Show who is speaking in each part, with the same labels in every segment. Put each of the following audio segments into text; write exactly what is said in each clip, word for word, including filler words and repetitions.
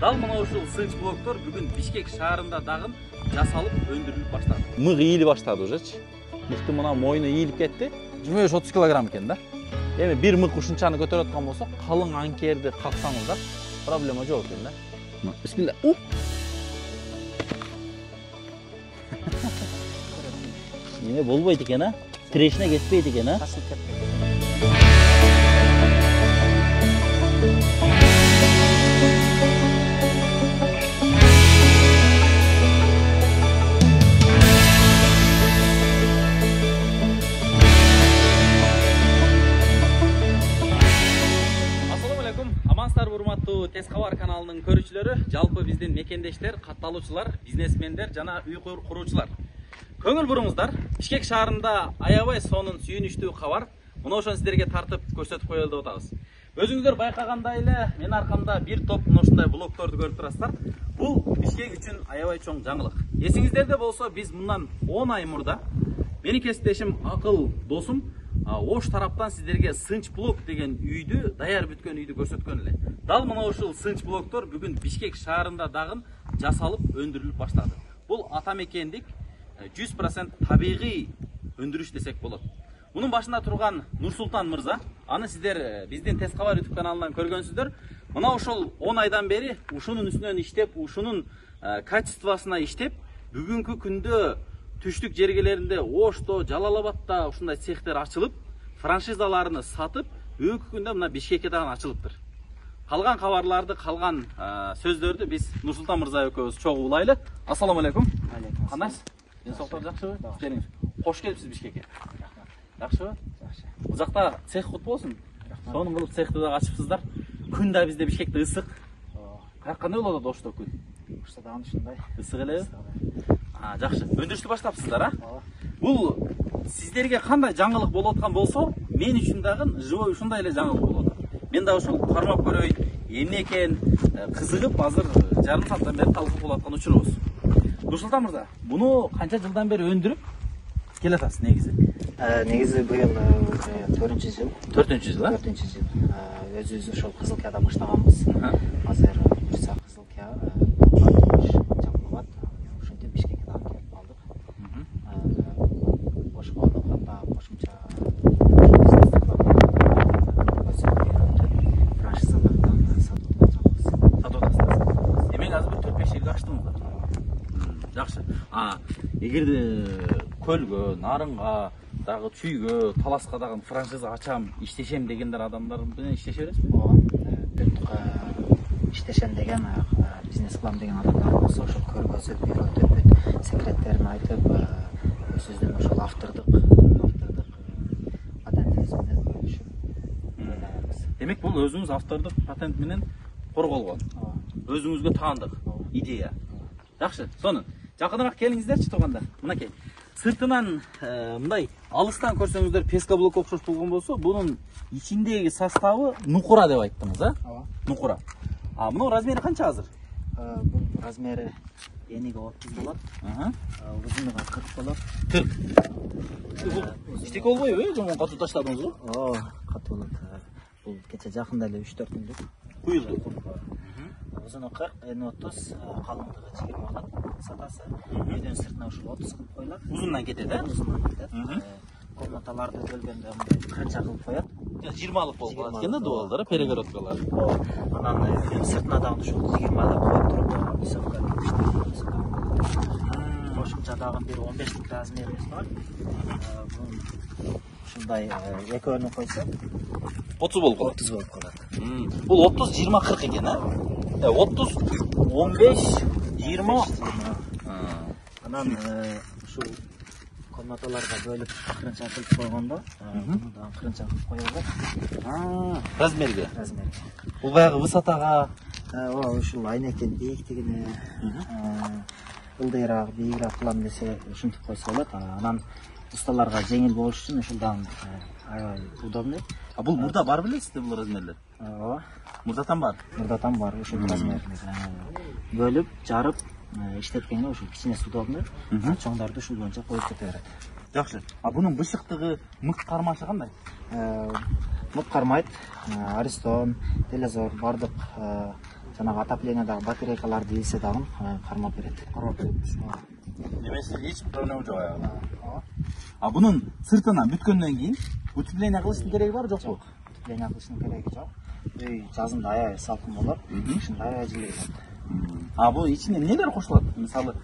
Speaker 1: Дал мына ушул сынч блоктор бүгүн Бишкек шаарында дагы жасалып өндүрүлүп баштады.
Speaker 2: Мыг ийилип баштады ужечи. Мыктын мына мойну ийилип кетти. жыйырма беш отуз килограмм экен да. Эми бир мык ушунчаны көтөрүп аткан болсо, калың анкерди каксаңыздар проблема жок экен да. Бисмилла. Эме болбойт экен а? Тирешине кетпейт экен а?
Speaker 3: Ташылып кетти.
Speaker 1: Урматтуу Тез кабар каналынын көрүүчүлөрү, жалпы биздин мекендештер, катталуучулар, бизнесмендер жана үй куруучулар. Көңүл буруңуздар, Бишкек шаарында аябай сонун сүйүнүчтүү кабар мына ошону сиздерге тартып көрсөтүп коелу деп атабыз. Өзүңүздөр байкагандай эле, мен аркамда бир топ мына ушундай блокторду көрүп турасыздар. Бул Бишкек үчүн аябай чоң жаңылык. Эсиңиздерде болсо, биз мындан он ай мурда менин кесиптешим Акыл досум Ош тараптан сиздерге сынч блок деген үйдү, даяр бүткөн үйдү көрсөткөн эле. Дал мына ушул сынч блоктор бүгүн Бишкек шаарында дагы жасалып өндүрүлүп баштады. Бул ата мекендик жүз процент табигый өндүрүш десек болот. Мунун башында турган Нурсултан мырза, аны сиздер биздин Тез кабар YouTube каналынан көргөнсүздөр. Мына ушул он айдан бери ушунун үстүнөн иштеп, ушунун качествосуна иштеп, бүгүнкү күндө түштүк жергелеринде Ошто, Жалал-Абадта ушундай цехтер ачылып, франшизаларını сатып, бүгүнкү күндө мына Бишкекке дагы ачылыптыр. Калган кабарларды, калган сөздөрдү биз Нурсултан мырза экөөбүз чогуу улайлы. Ассаламу алейкум.
Speaker 3: Алейкум.
Speaker 1: Кандайсыз? Ден соолуктар жакшыбы? Келиңиз. Кош келипсиз Бишкекке. Жакшыбы?
Speaker 3: Жакшы.
Speaker 1: Бул жакта цех кут болсун. Сонун кылып цехти дагы ачыпсыздар. Күн да бизде Бишкекте ысык. Кандай болот Ошто күн?
Speaker 3: Ошто дагы ушундай.
Speaker 1: Ысык элеби? А, жакшы. Өндүрүштү баштапсыздар, а? Бул сиздерге кандай жаңылык болуп аткан болсо, мен үчүн дагы живой ушундай эле жаңылык болуп атат. Мен да ушул кармап көрөйүн, эмне экен, кызыгып азыр жарым сааттан бери талкуу болуп аткан учурубуз. Нурсултан мырза, буну канча жылдан бери өндүрүп келатасыз негизи?
Speaker 3: Негизи быйыл төртүнчү жыл.
Speaker 1: төртүнчү жыл, а?
Speaker 3: төртүнчү жыл. Өзүбүз ошол Кызылкияда баштаганбыз. Азыр Бурса Кызылкия ошентип Бишкекке дагы келип калдык. Ошого ката кошумча франшизалардан сатып жатабыз.
Speaker 1: Сатып атасыз. Демек азыр төрт беш жылга ачтыңыздар. Жакшы. А, эгерде көлгө, нарынга, дагы чүйгө, таласка дагы франшиза ачам, иштешем дегендер адамдар менен иштеше бересизби?
Speaker 3: Ооба. Иштешем деген бизнес кылам деген адамдар болсо, ошол көргөзүп, үйрөтүп, секреттерин айтып, өзүбүздүн ошол автордук, автордук патентибиз менен бөлүшүп ойлойбуз.
Speaker 1: Демек бул өзүңүз автордук патент менен корголгон. Өзүңүзгө таандык идея. Жакшы, сонун. Жакыныраак келиңиздерчи турганда. Мынакей. Сыртынан мындай алыстан көрсөңүздөр песка блок окшош болгон болсо, бунун ичиндеги составы нукура деп айттыңыз, а?
Speaker 3: Ооба.
Speaker 1: Нукура. А мунун размери канча азыр?
Speaker 3: Бул размери эниги отуз болот.
Speaker 1: Ага.
Speaker 3: Узунуга кырк болот.
Speaker 1: кырк. Бул иштек болбойбу, э? Жомон катуу таштадыңызбы?
Speaker 3: Оо, катуу болот. Бул кече жакында эле үч төрт күндүк
Speaker 1: куюлду.
Speaker 3: Узуну кырк, эни отуз, калыңдыгы жыйырма болот. Сатасы үйдүн сыртына ушул отуз кылып коюлат.
Speaker 1: Узундан кетет, э?
Speaker 3: Узундан кетет. Комнаталарды бөлгөндө мындай кыркынча кылып коет.
Speaker 1: жыйырмалык болуп калат экен да, дубалдар, перегородкалар.
Speaker 3: Анан үйдүн сыртына дагы ушул жыйырмалык коюп туруп, высокка кошумча дагы бир он бештик размерибиз бар. Ушундай экөөнү койсо
Speaker 1: отуз болуп калат.
Speaker 3: отуз болуп калат.
Speaker 1: Бул отуз, жыйырма, кырк экен, а? отуз, он беш, жыйырма.
Speaker 3: Анан ушул комнаталарга бөлүп кыркынча кылып койгондо, муну дагы кыркынча кылып кое берет.
Speaker 1: Размерге.
Speaker 3: Размерге.
Speaker 1: Бул баягы высотага,
Speaker 3: ооба, ушул айнекин бийиктигине, ылдыйраак, бийигирээк кылам десе, ушинтип койсо болот. Анан усталарга жеңил болуш үчүн ушулдан аябай удобный.
Speaker 1: А бул мурда бар белесизби бул размерлер?
Speaker 3: Ооба.
Speaker 1: Мурдатан бар.
Speaker 3: Мурдатан бар ушул размер. Бөлүп, жарып, иштеткенде ушул кичинеси удобный. Чоңдарды ушул боюнча коюп кете берет.
Speaker 1: Жакшы. А бунун бышыктыгы, мык кармашы кандай?
Speaker 3: Мык кармайт. Аристон, Телезор бардык жанагы отоплениядагы батарейкаларды ийсе дагы кармап берет.
Speaker 2: Кармап берет. Немесе эч проблема жок аягында. А бунун сыртынан бүткөндөн кийин утепление кылыштын кереги бар жокпу?
Speaker 3: Утепление кылыштын кереги жок. Үй жазында аябай салкын болот. Ушунда аябай жылый болот.
Speaker 2: А бул ичине нелер кошулат? Мисалы,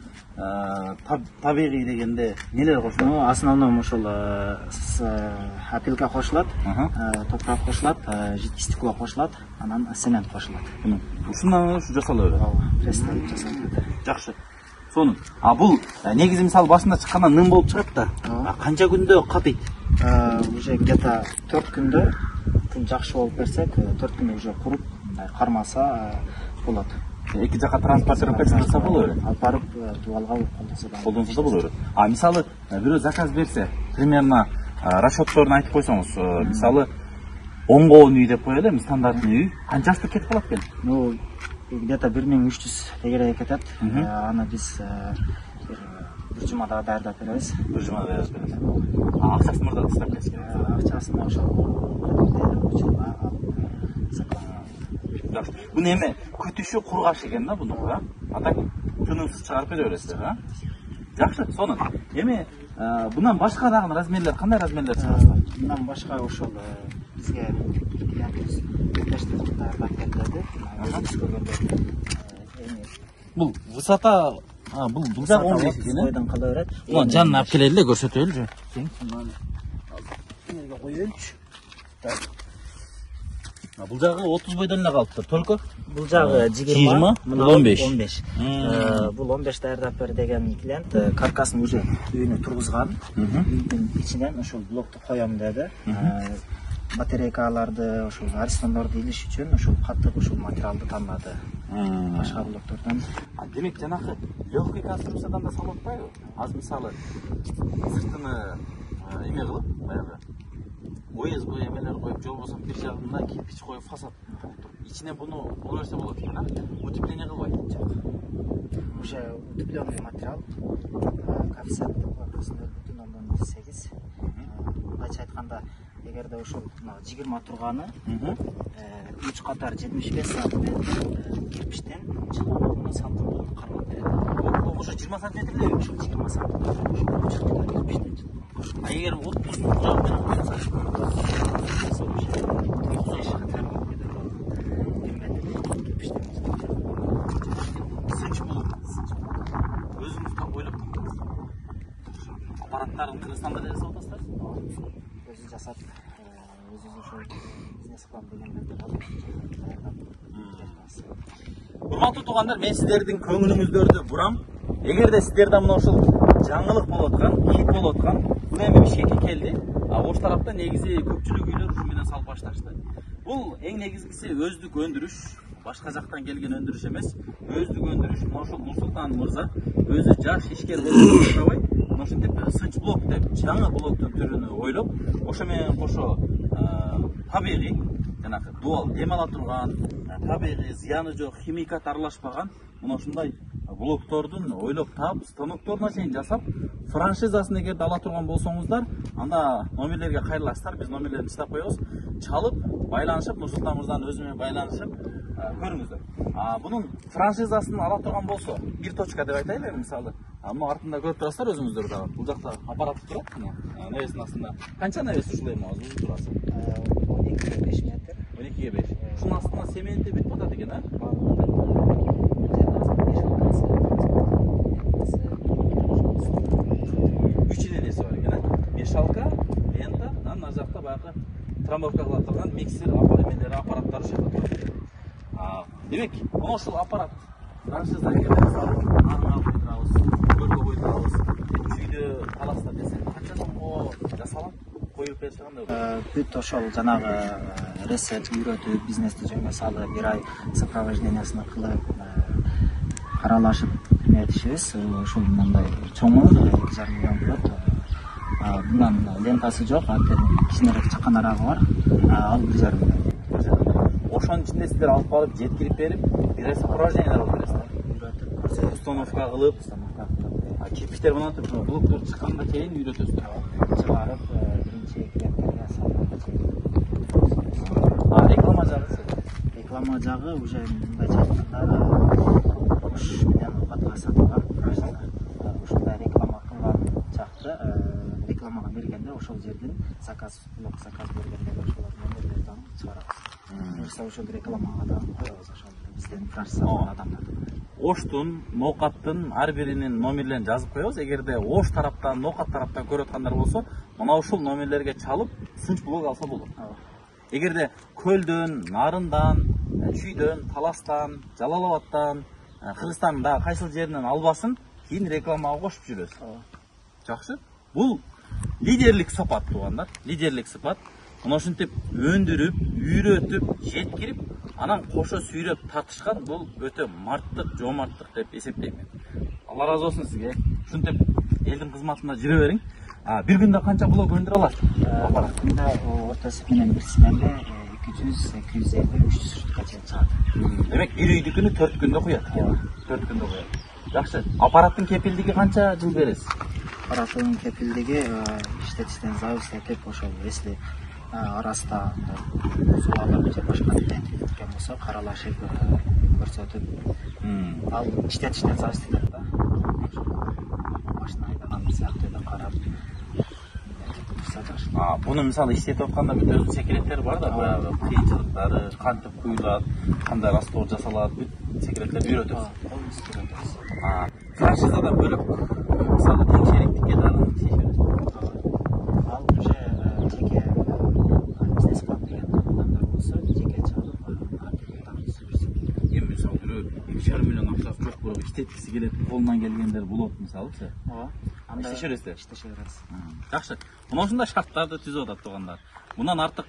Speaker 2: табигый дегенде нелер кошулат?
Speaker 3: Ну, основном ушул опилка кошулат, топурак кошулат, жидкий стекло кошулат, анан цемент кошулат.
Speaker 2: Ушундан ушу жасала берет.
Speaker 3: Ооба, пресстен жасалып кетет.
Speaker 2: Жакшы. Сонун. А бул негизи мисалы башында чыккандан ным болуп чыгат да. Канча күндө катыйт?
Speaker 3: Уже где-то төрт күндө күн жакшы болуп берсек, төрт күндө уже куруп, кармаса болот.
Speaker 2: Эки жака транспортировка жасап боло берет.
Speaker 3: Алып барып дубалга колдонсо да.
Speaker 2: Колдонсо да боло берет. А мисалы бирөө заказ берсе, примерно расчетторун айтып койсоңуз, мисалы он коон үй деп коелу, эми стандартный үй. Канчасы кетип калат экен?
Speaker 3: Ну, где-то бир миң үч жүз тегерек кетет. Аны биз бир жумада даярдап беребиз.
Speaker 2: Бир жумада даярдап беребиз. А акчасын мурда тастап кетсек?
Speaker 3: Акчасын ошол учурга
Speaker 2: алып. Буну эми күтүшү кургаш экен да буну, а? Атак тынымсыз чыгарып бере бересиздер, а? Жакшы, сонун. Эми бундан башка дагы размерлер, кандай размерлер чыгарасыздар?
Speaker 3: Мындан башка ошол бизге клиентибиз бештен даярдап берди.
Speaker 2: Бул высота, а бул бул жак он беш экен.
Speaker 3: Бойдон кала берет.
Speaker 2: Мына жанына алып келели эле көрсөтөлүчү.
Speaker 3: Тең, мына эмерге коелучу.
Speaker 2: Бул жагы отуз бойдон эле калыптыр, только
Speaker 3: бул жагы жыйырма,
Speaker 2: бул он беш.
Speaker 3: он беш. Бул он беш даярдап бер деген клиент каркасын уже үйүнө тургузган. Үйдүн ичинен ошол блокту коем деди. Батарейкаларды, ошол арестондорду илиш үчүн ошол катык ошол материалды тандады. Башка блоктордон.
Speaker 2: Демек жанагы легкий конструкциядан да салып атпайбы? Аз мисалы сыртыны эме кылып, баягы ОСБ эмелер коюп, же болбосо бир жагына кирпич коюп фасад туруп, ичине буну боло берсе болот экен, а? Утепление кылбайт.
Speaker 3: Жок. Уже утепленный материал. Коэффициент нөл бүтүн ондон сегиз. Бача айтканда, эгерде ошол жыйырма турганы үч катар жетимиш беш сантиметр кирпичтен чыгууну сантиметр кармап берет.
Speaker 2: Бул уже жыйырма сантиметр эле
Speaker 3: ошол жыйырма сантиметр ошол кирпичтен чыгат.
Speaker 2: А эгер отуз жак менен койсо сынч болот. Өзүңүз так ойлоп таптыңыз. Аппараттарын Кыргызстанда да жасап атасыздар?
Speaker 3: Өзү жасап, өзү ошол бизнес кылам дегендерди алып.
Speaker 2: Урматтуу туугандар, мен сиздердин көңүлүңүздөрдү бурам. Эгерде сиздерде мына ошол жаңылык болуп аткан, хит болуп аткан, бул эми Бишкекке келди. А ош тарапта негизи көпчүлүк үйлөр ушу менен салып башташты. Бул эң негизгиси өздүк өндүрүш, башка жактан келген өндүрүш эмес, өздүк өндүрүш. Мына ошол Нурсултан мырза өзү жаш ишкер болуп жатабай, мына ошентип сынч блок деп жаңы блоктун түрүнү ойлоп, ошо менен кошо табигый жанагы дуал дем ала турган, табигый зыяны жок, химикат аралашпаган мына ушундай блоктордун ойлоп таап, станокторуна чейин жасап, франшизасын эгерде ала турган болсоңуздар, анда номерлерге кайрыласыздар, биз номерлерин чыдап коебуз. Чалып, байланышып, Нурсултан мырзанын өзү менен байланышып көрүңүздөр. А бунун франшизасын ала турган болсо, бир точка деп айтайлы, мисалы, мына артында көрүп турасыздар өзүңүздөр дагы. Бул жакта аппарат турат, мына навестин астында. Канча навес ушул эми азыр узун турасы?
Speaker 3: он экиге беш метр.
Speaker 2: он экиге беш. Ушунун астына сементи бүтүп атат экен, а? үч денеси бар экен, а? Мешалка, лента, анан ар жакта баягы трамбовка кыла турган миксер аппараттары, аппараттар ушул жерде турат. Демек, мына ушул аппарат франшиза келип салып, аны алып турабыз, көргө коюп турабыз. Үйдө каласыздар десек, канча сомго жасалат? Коюп берсе кандай?
Speaker 3: Бүт ошол жанагы ресет үйрөтүп, бизнести жөнгө салып, бир ай сопровождениясын кылып, каралашып эметишибиз. Ушул мындай чоңу эки жарым миллион болот. Bundan lentası yok, kişinerek çıkan araba var, al bir жарым миллион.
Speaker 2: Ошонун ичинде сиздер алып барып жеткирип берип, бир сопровождениялар алып бересиздер. Установка кылып, кирпичтер менен туруп, блоктор чыкканга чейин үйрөтөсүздөр.
Speaker 3: Чыгарып, биринчи клиенттерге салып.
Speaker 2: А реклама жагы?
Speaker 3: Реклама жагы уже мындайча ош менен оокатка сатылган франшиза. Ушундай реклама кылган жакты рекламага бергенде ошол жерден заказ, блок заказ бергенде ошолор номерлерден чыгарабыз. Буюрса ошол рекламага да коебуз ошол бизден франшиза алган адамдарды.
Speaker 2: Оштун, Ноокаттын ар биринин номерлерин жазып коебуз. Эгерде Ош тараптан, Ноокат тараптан көрүп аткандар болсо, мына ушул номерлерге чалып, сынч блок алса болот. Эгерде Көлдөн, Нарындан, Чүйдөн, Таластан, Жалал Абадтан, Кыргызстандын дагы кайсыл жеринен албасын, кийин рекламага кошуп жүрөбүз. Жакшы. Бул лидерлик сапат туугандар, лидерлик сапат. Мына ушинтип өндүрүп, үйрөтүп, жеткирип, анан кошо сүйрөп тартышкан бул өтө марттык, жомарттык деп эсептейм мен. Алла разы болсун сизге. Ушинтип элдин кызматында жүрө бериң. Бир күндө канча блок өндүрө аласыз?
Speaker 3: Күндө ортосу менен бир сменде эки жүз, эки жүз элүү, үч жүз штука чейин чыгат.
Speaker 2: Демек бир үйдүкүнү төрт күндө куят. төрт күндө куят. Жакшы. Аппараттын кепилдиги канча жыл бересиз?
Speaker 3: Аппараттын кепилдиги иштетиштен зависит этип, ошол если араста бузулуулар же башка нерсе болсо каралашып көрсөтүп, ал иштетиштен зависит этет да. Машина айдаган сыяктуу да карап
Speaker 2: А, буну мисалы иштетип атканда бүт өзүнүн секреттери бар да, баягы кыйынчылыктары, кантип куюлат, кандай раствор жасалат, бүт секреттерди үйрөтөбүз. А, франшизадан бөлөк мисалы тең шериктикке дагы тийишебиз.
Speaker 3: Ал уже жеке бизнес план деген адамдар болсо, жеке чалып, артынан сүрүшсүн.
Speaker 2: Эми мисалы бирөө эки жарым миллион акчасы жок, бирок иштеткиси келет, колунан келгендер болот мисалычы.
Speaker 3: Ооба.
Speaker 2: Анда иштеше бересиз.
Speaker 3: Иштеше беребиз.
Speaker 2: Жакшы. Мына ушундай шарттарды түзүп атат туугандар. Мындан артык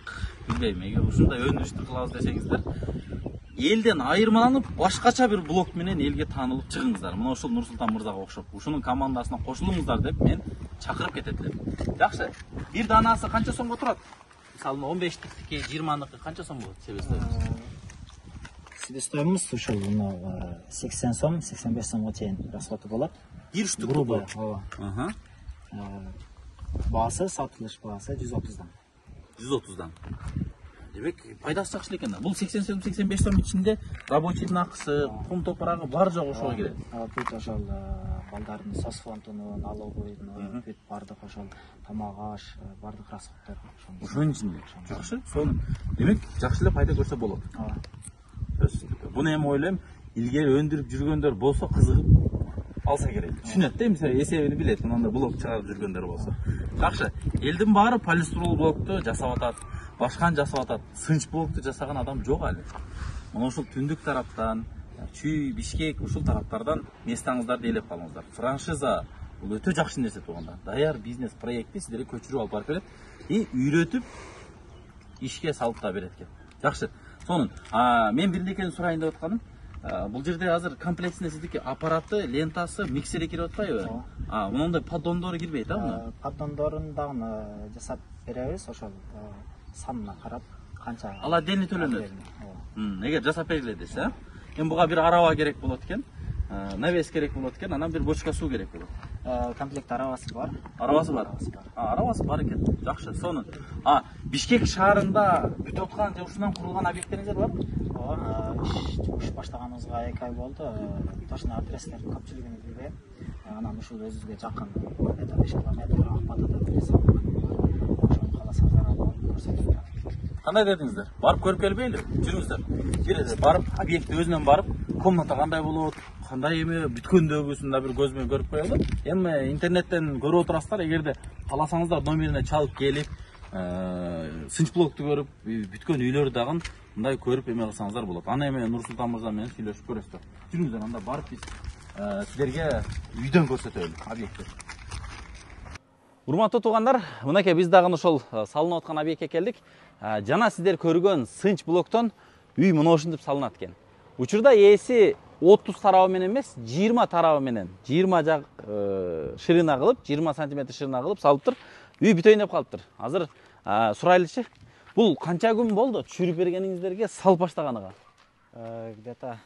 Speaker 2: билбейм. Эгер ушундай өндүрүштү кылабыз десеңиздер, элден айырмаланып, башкача бир блок менен элге таанылып чыгыңыздар. Мына ушул Нурсултан мырзага окшоп, ушунун командасына кошулуңуздар деп мен чакырып кетет элем. Жакшы. Бир данасы канча сомго турат? Мисалы он бештики, жыйырманыкы канча сом болот себестоюмуз?
Speaker 3: Себестоюмуз ушул сексен сом, сексен беш сомго чейин расходу болот.
Speaker 2: Бир штук
Speaker 3: грубо. Ооба.
Speaker 2: Ага.
Speaker 3: Баасы, сатылыш баасы жүз отуздан.
Speaker 2: жүз отуздан. Демек, пайдасы жакшы экен да. Бул сексен сом, сексен беш сом ичинде рабочийдин акысы, кум топурагы бар жок ошого кирет.
Speaker 3: Бүт ошол балдардын сос фондунун, налоговыйдын, бүт бардык ошол тамак аш, бардык расходдор
Speaker 2: ошонун ичинде. Жакшы. Сону демек, жакшы эле пайда көрсө болот.
Speaker 3: Ооба.
Speaker 2: Буну эми ойлойм, илгери өндүрүп жүргөндөр болсо кызыгып алса керек. Түшүнөт да, мисалы эсебини билет, мындай блок чыгарып жүргөндөр болсо. Жакшы. Элдин баары полистирол блокту жасап атат, башканы жасап атат. Сынч блокту жасаган адам жок али. Мына ушул түндүк тараптан, Чүй, Бишкек ушул тараптардан местаңыздарды ээлеп калыңыздар. Франшиза бул өтө жакшы нерсе туугандар. Даяр бизнес проектти сиздерге көчүрүп алып барып берет и үйрөтүп ишке салып да берет экен. Жакшы. Сонун, мен бир нерсени сурайын деп атканым. Бул жерде азыр комплексинде сиздики аппараты, лентасы, миксери кирип атпайбы? А, мындай поддондору кирбейт, а муну?
Speaker 3: Поддондорун дагы жасап беребиз, ошол санына карап канча.
Speaker 2: Ал отдельно төлөнөт. Эгер жасап бергиле десе, а? Эми буга бир араба керек болот экен. Навес керек болот экен, анан бир бочка суу керек болот.
Speaker 3: Комплект арабасы бар.
Speaker 2: Арабасы бар. А, арабасы бар экен. Жакшы, сонун. А, Бишкек шаарында бүтүп аткан же ушундан курулган объекттериңиздер барбы?
Speaker 3: Ооба, иш баштаганыбызга эки ай болду. Точно адрестердин көпчүлүгүн билбейм. Анан ушул өзүбүзгө жакын беш километр Акбатада бир салган бар. Ошону кааласаңыздар алып көрсөтүп берем.
Speaker 2: Кандай дедиңиздер? Барып көрүп келбейлиби? Жүрүңүздөр. Бир барып, объект өзүнөн барып, комната кандай болот, кандай эме бүткөндөгүсүн да бир көз менен көрүп коелу. Эми интернеттен көрүп отурасыздар, эгерде кааласаңыздар номерине чалып келип, сынч блокту көрүп, бүткөн үйлөрдү дагы мындай көрүп эме кылсаңыздар болот. Аны эми Нурсултан мырза менен сүйлөшүп көрөсүздөр. Жүрүңүздөр, анда барып биз силерге үйдөн көрсөтөлү объектти. Урматтуу туугандар, мынакей биз дагы ошол салынып аткан объектке келдик. Жана сиздер көргөн сынч блоктон үй мына ушинтип салынат экен. Учурда ээси отуз тарабы менен эмес, жыйырма тарабы менен, жыйырма жак ширина кылып, жыйырма сантиметр ширина кылып салыптыр. Үй бүтөйүн деп калыптыр. Азыр сурайлычы. Бул канча күн болду түшүрүп бергениңиздерге, салып баштаганыга?
Speaker 3: Где-то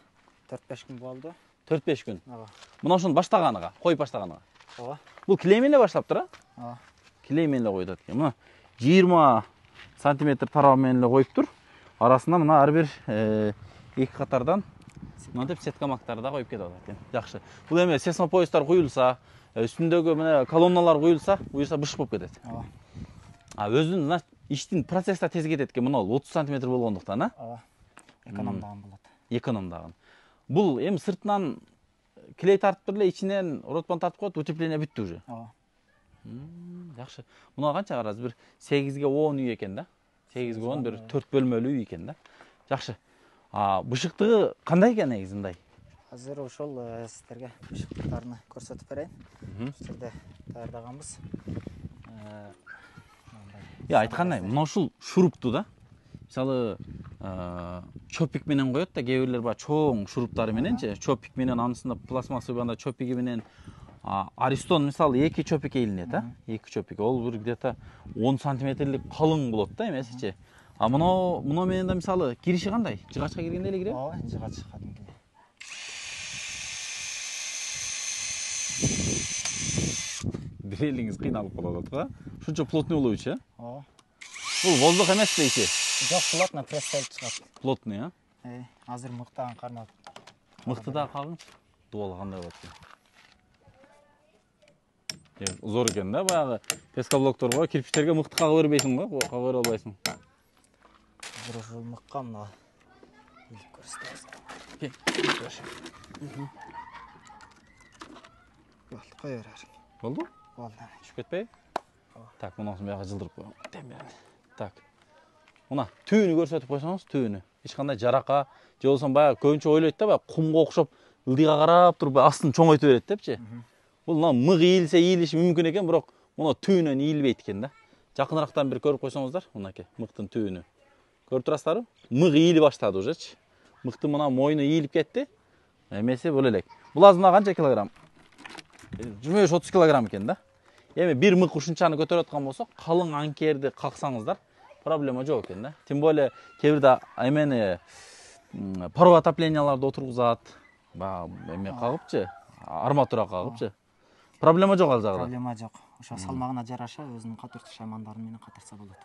Speaker 3: төрт беш күн болду.
Speaker 2: төрт беш күн.
Speaker 3: Ооба.
Speaker 2: Мына ошону баштаганыга, коюп баштаганыга.
Speaker 3: Ооба.
Speaker 2: Бул килей менен эле баштаптыр, а?
Speaker 3: Ооба.
Speaker 2: Килей менен эле коюп атат экен. Мына жыйырма сантиметр тарабы менен эле коюптур. Арасында мына ар бир эки катардан мынтип сеткамактарды да коюп кетип атат экен. Жакшы. Бул эме сессмопоездар куюлса, үстүндөгү мына колонналар куюлса, буюрса бышык болуп кетет.
Speaker 3: Ооба.
Speaker 2: А өзүнүн, значит, иштин процесс да тез кетет экен, мына отуз сантиметр болгондуктан, а?
Speaker 3: Ооба. Экономдаган болот.
Speaker 2: Экономдаган. Бул эми сыртынан клей тартып эле, ичинен ротпан тартып коет, утепление бүттү уже.
Speaker 3: Ооба.
Speaker 2: Жакшы. Муна канча караз? Бир сегизге он үй экен да. сегизге он бир төрт бөлмөлүү үй экен да. Жакшы. А бышыктыгы кандай экен негизи мындай?
Speaker 3: Азыр ошол сиздерге бышыктыктарын көрсөтүп берейин. Бул жерде даярдаганбыз.
Speaker 2: Я айткандай, мына ушул шурупту да. Мисалы, чопик менен коет да, кээ бирлер бар чоң шуруптары мененчи, чопик менен анысында пластмассовый банда чопиги менен Аристон мисалы эки чопик илинет, а? эки чопик. Ол бир где-то он сантиметрлик калың болот да, эмесичи. А мына мына менен да мисалы кириши кандай? Жыгачка киргенде эле кире?
Speaker 3: Ооба, жыгач кадимки.
Speaker 2: Бир элиңиз кыйналып калат го. Ушунча плотный болобучу, а?
Speaker 3: Ооба.
Speaker 2: Бул воздух эмес да ичи?
Speaker 3: Жок, плотно пресстелип чыгат.
Speaker 2: Плотный, а?
Speaker 3: Эй, азыр мыктаган кармап.
Speaker 2: Мыкты да кагыңчы. Дубалы кандай болот экен? Зор экен да, баягы пескоблокторго, кирпичтерге мыкты кага бербейсиң го, кага бере албайсың.
Speaker 3: Бир ушул мыкка мына илип көрсөтөбүз. Болду, кое берер.
Speaker 2: Болду?
Speaker 3: Болду.
Speaker 2: Түшүп кетпей? Так, мунасын баягы жылдырып коём. Темирени. Так. Мына түбүнү көрсөтүп койсоңуз, түбүнү. Эч кандай жарака, же болсо баягы көбүнчө ойлойт да, баягы кумга окшоп ылдыйга карап туруп астын чоңойтуп берет депчи. Бул мына мык ийилсе ийилиши мүмкүн экен, бирок мына түбүнөн ийилбейт экен да. Жакынырактан бир көрүп койсоңуздар, мынакей мыктын түбүнү. Көрүп турасыздарбы? Мык ийили баштады ужечи. Мыктын мына мойну ийилип кетти. Эмеси бул элек. Бул азыр мына канча килограмм? жыйырма беш отуз килограмм экен да. Эми бир мык ушунчаны көтөрүп аткан болсо, калың анкерди каксаңыздар, проблема жок экен да. Тем более кээ бирде эмени паровой отопленияларды отургузат. Баягы эме кагыпчы, арматура кагыпчы. Проблема жок ал жагда.
Speaker 3: Проблема жок. Ошо салмагына жараша өзүнүн катыртыш аймандары менен катырса болот.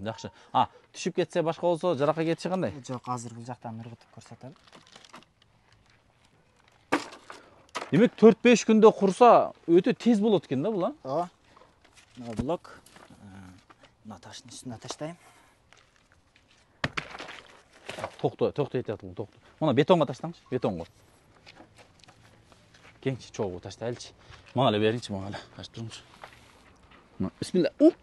Speaker 2: Жакшы. А, түшүп кетсе башка болсо жарака кетиши кандай?
Speaker 3: Жок, азыр бул жактан ыргытып көрсөтөлү.
Speaker 2: Демек төрт беш күндө курса өтө тез болот экен да бул, а?
Speaker 3: Ооба. Мына блок. Мына таштын үстүнө таштайм.
Speaker 2: Токто, токтой атат бул, токто. Мына бетонго таштаңчы, бетонго. Кеңчи чогуу таштайлычы. Мага эле бериңчи, мага эле. Ачып туруңчу. Мына, бисмилла. Уп.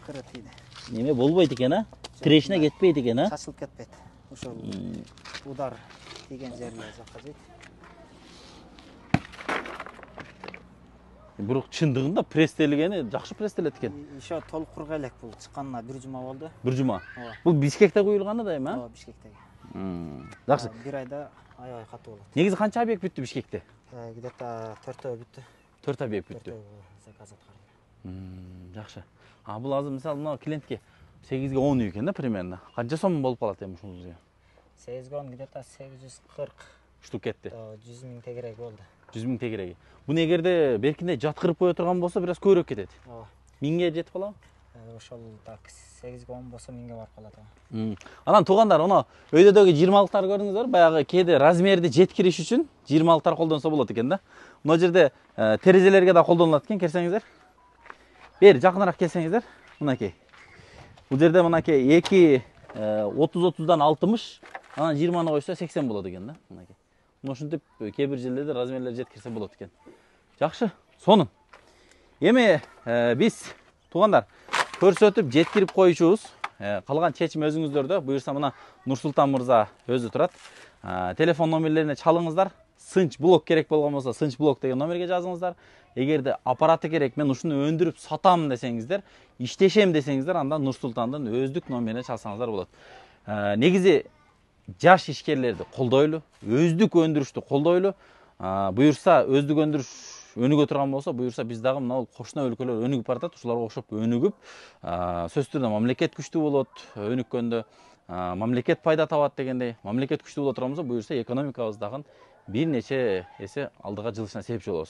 Speaker 3: Кыра тийди.
Speaker 2: Неме болбойт экен, а? Тирешине кетпейт экен, а?
Speaker 3: Чачылып кетпейт. Ошол удар тийген жерлер жакка жейт.
Speaker 2: Бирок чындыгында пресстелгени жакшы пресстелет экен.
Speaker 3: Еще толук курга элек бул чыкканына бир жума болду.
Speaker 2: Бир жума.
Speaker 3: Ооба.
Speaker 2: Бул Бишкекте куюлган да эми, а?
Speaker 3: Ооба, Бишкектеги.
Speaker 2: Жакшы.
Speaker 3: Бир айда аябай катуу болот.
Speaker 2: Негизи канча объект бүттү Бишкекте?
Speaker 3: Где-то төртөө бүттү.
Speaker 2: төрт объект бүттү.
Speaker 3: Заказ аткардым.
Speaker 2: Жакшы. А бул азыр мисалы мына клиентке сегизге он үй экен да примерно. Канча сом болуп калат эми ушунузга?
Speaker 3: сегизге он где-то сегиз жүз кырк
Speaker 2: штук кетти.
Speaker 3: жүз миң тегерек болду.
Speaker 2: жүз миң тегереги. Буну эгерде беркинде жаткырып кое турган болсо, бир аз көбүрөөк кетет.
Speaker 3: Ооба.
Speaker 2: миңге жетип калабы?
Speaker 3: Ошол так сегизге он болсо миңге барып калат.
Speaker 2: Анан туугандар, аны өйдөдөгү жыйырмалыктарды көрдүңүздөр, баягы кээде размерди жеткириш үчүн жыйырмалыктар колдонсо болот экен да. Мына жерде терезелерге да колдонулат экен, келсеңиздер. Бери жакыныраак келсеңиздер, мынакей. Бул жерде мынакей эки отуз отуздан алтымыш, анан жыйырманы койсо сексен болот экен да, мынакей. Мына ушинтип кээ бир жерлерде размерлер жеткирсе болот экен. Жакшы, сонун. Эми биз туугандар көрсөтүп жеткирип коючубуз. Калган чечим өзүңүздөрдө. Буюрса мына Нурсултан мырза өзү турат. Телефон номерлерине чалыңыздар. Сынч блок керек болгон болсо Сынч блок деген номерге жазыңыздар. Эгерде аппараты керек, мен ушуну өндүрүп сатам десеңиздер, иштешем десеңиздер, анда Нурсултандын өздүк номерине чалсаңыздар болот. Негизи жаш ишкерлерди колдойлу, өздүк өндүрүштү колдойлу. Буюрса өздүк өндүрүш өнүгө турган болсо, буюрса биз дагы мына кошуна өлкөлөр өнүгүп баратат, ушуларга окшоп өнүгүп, сөзсүз түрдө мамлекет күчтүү болот, өнүккөндө мамлекет пайда табат дегендей, мамлекет күчтүү боло турган болсо, буюрса экономикабыз дагы бир нече эсе алдыга жылышына себепчи болобуз.